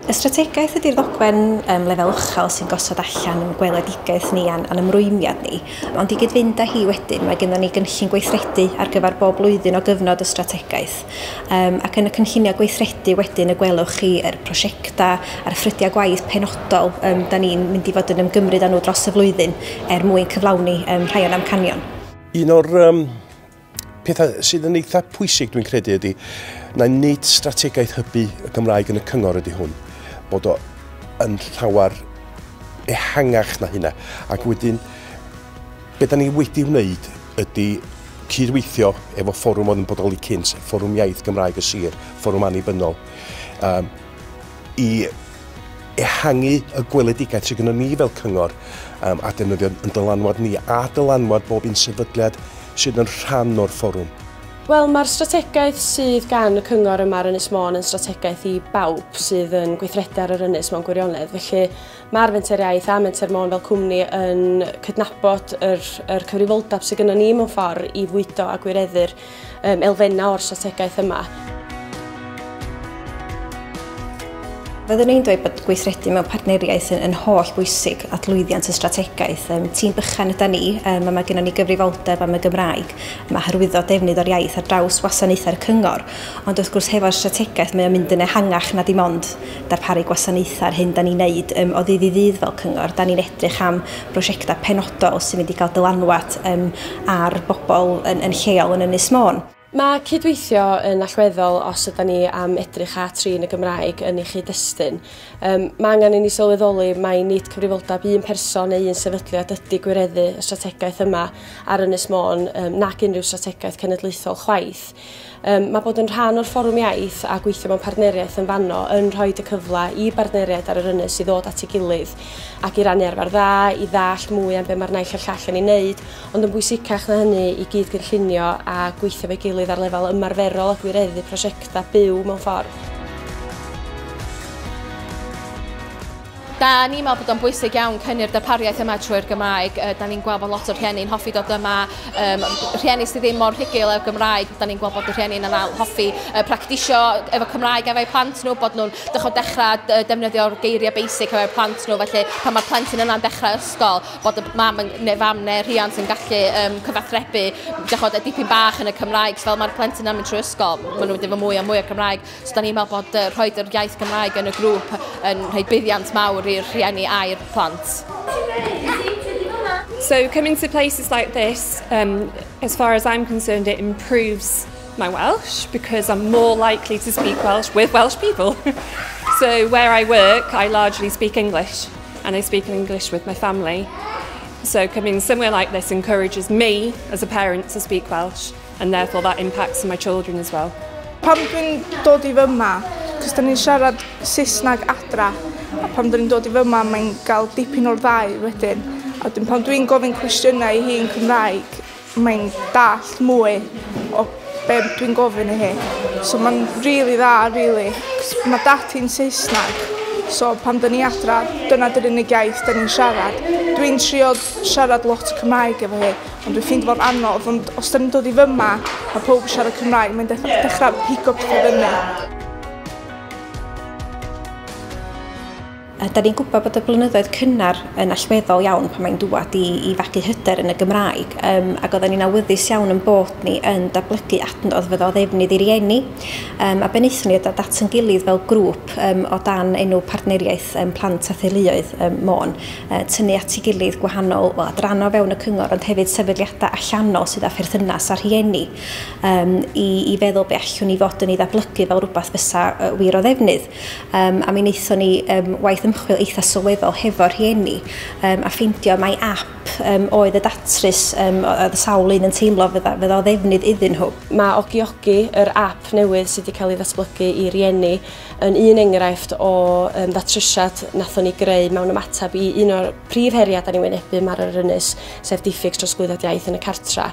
Y strategaeth ydy'r ddogfen lefel uchel sy'n gosod allan yn gweledigaeth ni a'n ymrwymiad ni. Ond i gyd-fynd â hi wedyn, mae gennym ni gynllun gweithredu ar gyfer bob blwyddyn o gyfnod y strategaeth. Ac yn y cynlluniau gweithredu wedyn y gwelwch chi yr prosiectau a'r ffrydiau gwaith penodol da ni'n mynd i fod yn ymgymryd â nhw dros y flwyddyn er mwyn cyflawni rhai o'n amcanion. Un o'r pethau sydd yn eitha pwysig dwi'n credu ydy na nid strategaeth hybu y Gymraeg yn y cyngor ydy hwn, bod o yn llawer ehangach na hynna. Ac wedyn, be da ni wedi wneud ydy cydweithio efo fforwm oedd yn bodoli cynt, Fforwm Iaith Gymraeg y Sir, Fforwm Annibynnol, i ehangu y gweledigaeth sydd gennym ni fel cyngor a defnyddio yn dylanwad ni a dylanwad bob un sefydliad sydd yn rhan o'r fforwm. Wel, mae'r strategaeth sydd gan y cyngor yma ar Ynys Môn yn strategaeth i bawb sydd yn gweithredu ar yr ynys mewn gwirionedd. Felly mae'r Fenter Iaith a Menter Môn fel cwmni yn cydnabod yr cyfrifoldeb sydd gennym ni mewn ffordd i fwydo a gwireddu'r elfennau o'r strategaeth yma. Fyddwn i'n dweud bod gweithredu mewn partneriaeth yn holl bwysig at lwyddiant y strategaeth. Tîm bychan yda ni, a mae gennym ni gyfrifoldeb am y Gymraeg. Mae hyrwyddo defnydd o'r iaith ar draws wasanaethau'r cyngor. Ond wrth gwrs hefo'r strategaeth mae o'n mynd yn ehangach na dim ond darparu gwasanaethau ar hyn da ni'n neud o ddydd i ddydd fel cyngor. Da ni'n edrych am brosiectau penodol sy'n mynd i gael dylanwad ar bobl yn lleol yn Ynys Môn. Mae cydweithio yn allweddol os ydyn ni am edrych a trin y Gymraeg yn ei chyd-destun. Mae angen i ni sylweddoli mai nid cyfrifoldeb un person neu un sefydliad ydy gwireddu y strategaeth yma ar Ynys Môn nac unrhyw strategaeth cenedlaethol chwaith. Mae bod yn rhan o'r Fforwm Iaith a gweithio mewn partneriaeth yn fanno yn rhoi y cyfle i bartneriaid ar yr ynys i ddod at ei gilydd ac i rannu arfer dda, i ddallt mwy am be mae'r naill a'r llall yn ei wneud, ond yn bwysicach na hynny i gyd gynllunio a gweithio efo'i gilydd ar lefel ymarferol a gwireddu prosiectau byw mewn ffordd. Da ni'n meddwl bod o'n bwysig iawn cynnu'r darpariaeth yma trwy'r Gymraeg. Da ni'n gweld bod lot o'r rhieni'n hoffi dod yma, rhieni sydd ddim mor rhugl efo'r Gymraeg, da ni'n gweld bod y rhieni'n yna hoffi practisio efo Cymraeg efo'u plant nhw, bod nhw'n dechrau defnyddio'r geiriau basic efo'u plant nhw, felly pan mae'r plentyn yna'n dechrau ysgol, bod y mam neu fam neu rhiant yn gallu cyfathrebu dipyn bach yn y Cymraeg, so fel mae'r plentyn yna'n mynd trwy ysgol, maen nhw'n mynd efo mwy a mwy o Cymraeg. So da ni'n meddwl bod rhoi yr iaith Gymraeg yn y grŵp yn rhoi buddiant mawr i'r rhieni a'r plant. So coming to places like this, as far as I'm concerned, it improves my Welsh because I'm more likely to speak Welsh with Welsh people. So where I work, I largely speak English, and I speak English with my family. So coming somewhere like this encourages me as a parent to speak Welsh, and therefore that impacts on my children as well. Pan dwi'n dod i fyma, cos da ni'n siarad Saesneg adra, a pan dwi'n dod i fyma mae'n gael dipyn o'r ddau wedyn. A wedyn pan dwi'n gofyn cwestiynau i hi yn Cymraeg, mae'n dallt mwy o be dwi'n gofyn i hi. So mae'n really dda, really. Mae dad hi'n Saesneg, so pan dyn ni adra, dyna dy'r unig iaith dyn ni'n siarad. Dwi'n trio siarad lot o Cymraeg efo hi, ond dwi'n ffeindio fo'n anodd, ond os dyn ni'n dod i fyma, mae pawb yn siarad Cymraeg, mae'n dechrau pigo pethau fyny. Da ni'n gwybod bod y blynyddoedd cynnar yn allweddol iawn pan mae'n dŵad i fagu hyder yn y Gymraeg, ac oedden ni'n awyddus iawn yn bod ni yn datblygu adnodd fydd o ddefnydd i rieni. A be wnaethon ni oedd at yn gilydd fel grŵp o dan enw Partneriaeth Plant a Theuluoedd Môn, tynnu at ei gilydd gwahanol adrannau fewn y cyngor, ond hefyd sefydliadau allanol sydd â pherthynas â rhieni, i feddwl be allwn ni fod yn ei ddatblygu fel rhywbeth fysa wir o ddefnydd. A mi wnaethon ni waith ymchwil eitha sylweddol hefo'r rhieni a ffeindio mai app oedd y datrys oedd y sawl un yn teimlo fydda o ddefnydd iddyn nhw. Mae Ogi Ogi, yr app newydd sydd wedi cael ei ddatblygu i rieni, yn un enghraifft o ddatrysiad nathon ni greu mewn ymateb i un o'r prif heriau da ni'n wynebu ar yr ynys, sef diffyg trosglwyddiad iaith yn y cartra.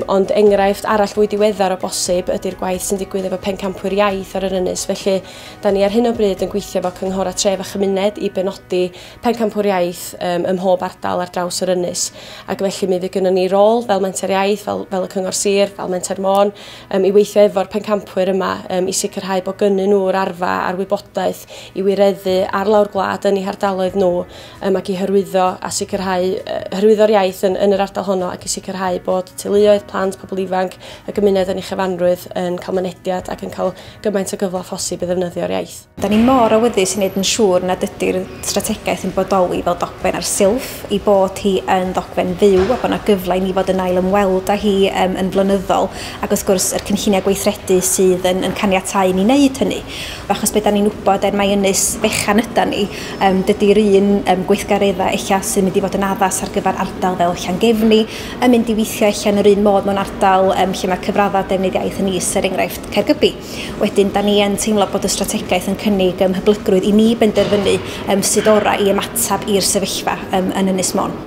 Ond enghraifft arall fwy diweddar o bosib ydy'r gwaith sy'n digwydd efo pencampwyr iaith ar yr ynys. Felly, da ni ar hyn o bryd yn gweithio efo cynghora tref a chymuned i benodi pencampwyr iaith ym mhob ardal ar draws yr ynys. Ac felly mi fydd gynnon ni rôl fel Menter Iaith, fel y Cyngor Sir, fel Menter Môn, i weithio efo'r pencampwyr yma i sicrhau bod gynnyn nhw'r arfa a'r wybodaeth i wireddu ar lawr gwlad yn eu hardaloedd nhw ac i hyrwyddo a sicrhau hyrwyddo'r iaith yn yr ardal honno ac i sicrhau bod teuluoedd, plant, pobl ifanc, y gymuned yn ei chyfanrwydd yn cael mynediad ac yn cael gymaint o gyfle phosib i ddefnyddio'r iaith. Da ni mor awyddus i wneud yn siŵr nad ydy'r strategaeth yn bodoli fel dogfen ar silff, i bod hi yn ddogfen fyw a bod yna gyfle i ni fod yn ail ymweld â hi yn flynyddol, ac wrth gwrs yr cynlluniau gweithredu sydd yn caniatáu ni wneud hynny. Achos be da ni'n wybod, er mai ynys fechan yda ni, dydy'r un gweithgareddau ella sy'n mynd i fod yn addas ar gyfer ardal fel Llangefni yn mynd i weithio ella yn yr un modd mewn ardal lle mae cyfraddau defnydd iaith yn is, er enghraifft Caergybi. Wedyn, da ni yn teimlo bod y strategaeth yn cynnig hyblygrwydd i ni benderfynu sut orau i ymateb i'r sefyllfa yn Ynys Môn.